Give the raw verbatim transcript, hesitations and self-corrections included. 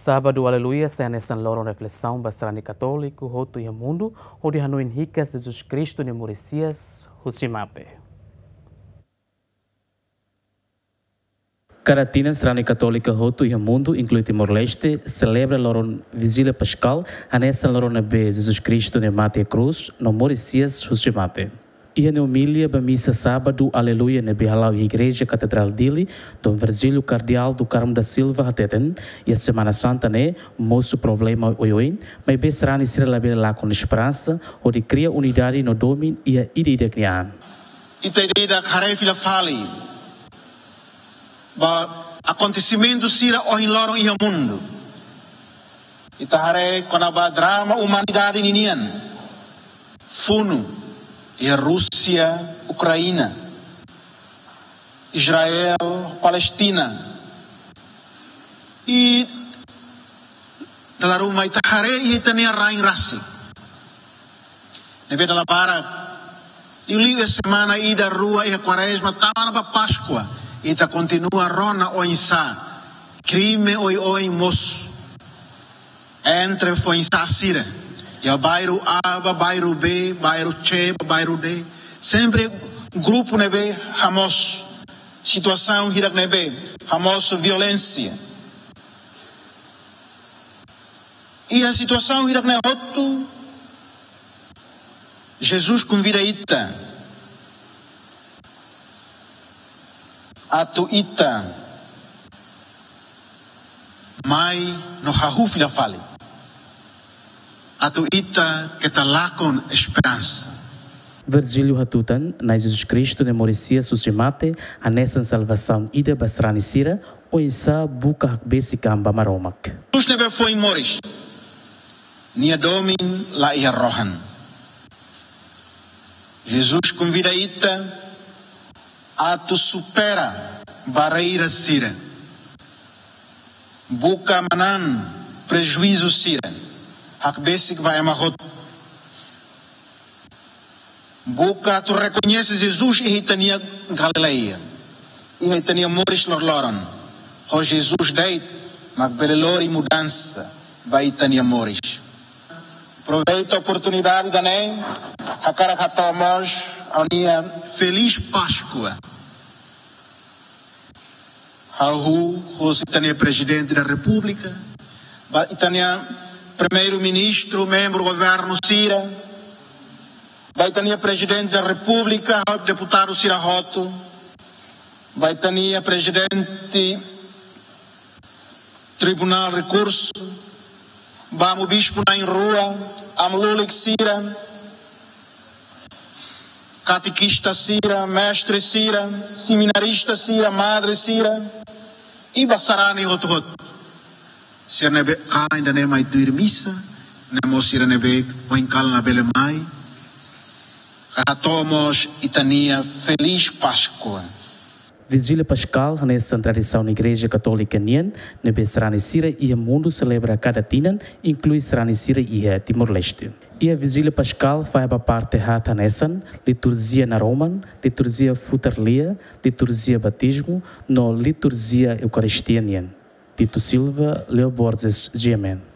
Sábadu Aleluia sai hanesan loron reflesaun ba sarani katóliku hotu iha mundu, hodi hanoin hikas Jesus Kristu nia moris hi'as husi mate. Kada tinan sarani katólika hotu iha mundu, inklui Timor-Leste, selebra loron Vijília Paskál, hanesan loron ne'ebé Jesus Kristu nia mate iha krús no moris hi'as husi mate. Iha nia omilia ba misa Sábadu Aleluia ne'ebé hala'o iha Igreja Katedrál Dili, Dom Virgílio Kardeál do Carmo da Silva hateten, iha Semana Santa ne'e mosu problema oioin, maibé sarani sira labele lakon esperansa, hodi kria unidade no domin iha ida-idak nia an. Ita ida-idak haree fila fali ba akontesimentu sira ohin loron iha mundu. Ita haree kona-ba drama umanidade ninian. Funu iha Rúsia, Ukraina, Israel, Palestina. I dala ruma ita haree iha ita-nia rain rasik. Ne'ebé dala barak, liuliu iha semana ida rua iha Kuarezma tama ona ba Páskua, ita kontinua rona oinsá krime oioin mosu entre foin-sa'e sira, iha bairru A ba bairru B, bairru C ba bairru D. Sempre grupu ne'ebé hamosu situasaun hirak ne'ebé hamosu violénsia. Iha situasaun hirak ne'e hotu, Jesus konvida ita atu ita mai no hahú fila fali, atu ita keta lakon esperansa. Virgílio hatutan, Na'i Jesus Kristu nia moris hi'as husi mate hanesan salvasaun ida ba sarani sira, oinsá buka hakbesik an ba Maromak. Jesus ne'ebé foin moris, nia domin la iha rohan. Jesus konvida ita atu supera barreira sira, buka manán prejuízu sira, hakbesik ba ema hotu. Buka atu rekoñese Jesus iha ita-nia Galileia, iha ita-nia moris loroloron. Ho Jesus de'it mak bele lori mudansa ba ita-nia moris. Aproveita oportunidade ida-ne'e, hakarak hato'o mós ha'u-nia Feliz Páscoa hahú hosi ita-nia Prezidente da Repúblika, ba ita-nia Primeiru-Ministru, membru governu sira, ba ita-nia Prezidente da Repúblika, deputadu sira hotu, ba ita-nia Prezidente Tribunál Rekursu, ba amu bispu na'in-rua, amu lulik sira, katekista sira, mestre sira, seminarista sira, madre sira, i ba sarani hotu-hotu. Sira ne'ebé kalan ida-ne'e mai tuir misa, no mós sira ne'ebé ohin kalan labele mai. Hato'o mós ita-nia Feliz Páscoa. Vijília Paskál hanesan tradisaun Igreja Katólika nian, ne'ebé sarani sira iha mundu selebra kada tinan, inklui sarani sira iha Timor-Leste. Iha Vijília Paskál fahe ba parte haat hanesan liturjia naroman, liturjia futar lia, liturjia batizmu, no liturjia Eukaristia nian. Tito Silva, Leo Borges, G M N.